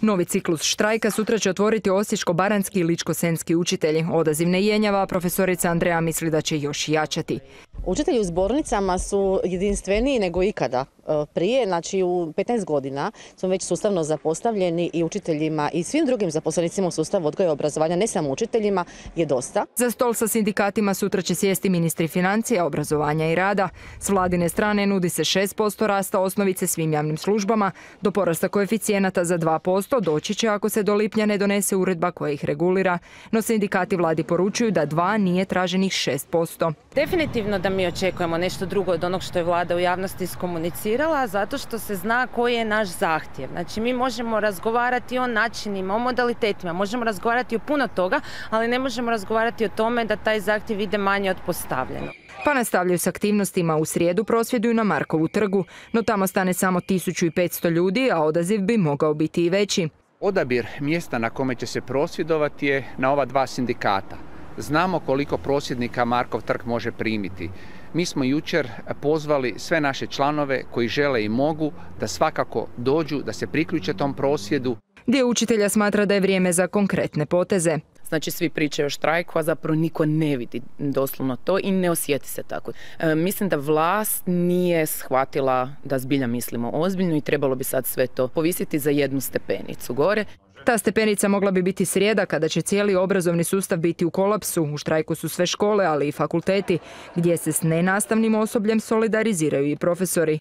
Novi ciklus štrajka sutra će otvoriti osječko-baranjski i ličko-senjski učitelji. Odaziv ne jenjava, profesorica Andreja misli da će još jačati. Učitelji u zbornicama su jedinstveniji nego ikada prije. Znači u 15 godina smo već sustavno zapostavljeni i učiteljima i svim drugim zaposlenicima u sustavu odgoja i obrazovanja, ne samo učiteljima, je dosta. Za stol sa sindikatima sutra će sjesti ministri financija, obrazovanja i rada. S vladine strane nudi se 6% rasta osnovice svim javnim službama. Do porasta koeficijenata za 2% doći će ako se do lipnja ne donese uredba koja ih regulira. No sindikati vladi poručuju da 2 nije traženih 6%. Definitivno da mi očekujemo nešto drugo od onog što je vlada u javnosti iskomunicirala, zato što se zna koji je naš zahtjev. Znači mi možemo razgovarati o načinima, o modalitetima, možemo razgovarati o puno toga, ali ne možemo razgovarati o tome da taj zahtjev ide manje od postavljeno. Pa nastavljaju s aktivnostima. U srijedu prosvjeduju na Markovu trgu, no tamo stane samo 1500 ljudi, a odaziv bi mogao biti i veći. Odabir mjesta na kome će se prosvjedovati je na ova 2 sindikata. Znamo koliko prosvjednika Markov trg može primiti. Mi smo jučer pozvali sve naše članove koji žele i mogu da svakako dođu, da se priključe tom prosvjedu. Dio učitelja smatra da je vrijeme za konkretne poteze. Znači svi pričaju o štrajku, a zapravo niko ne vidi doslovno to i ne osjeti se tako. Mislim da vlast nije shvatila da zbilja mislimo ozbiljno i trebalo bi sad sve to povisiti za 1 stepenicu gore. Ta stepenica mogla bi biti srijeda kada će cijeli obrazovni sustav biti u kolapsu. U štrajku su sve škole, ali i fakulteti, gdje se s nenastavnim osobljem solidariziraju i profesori.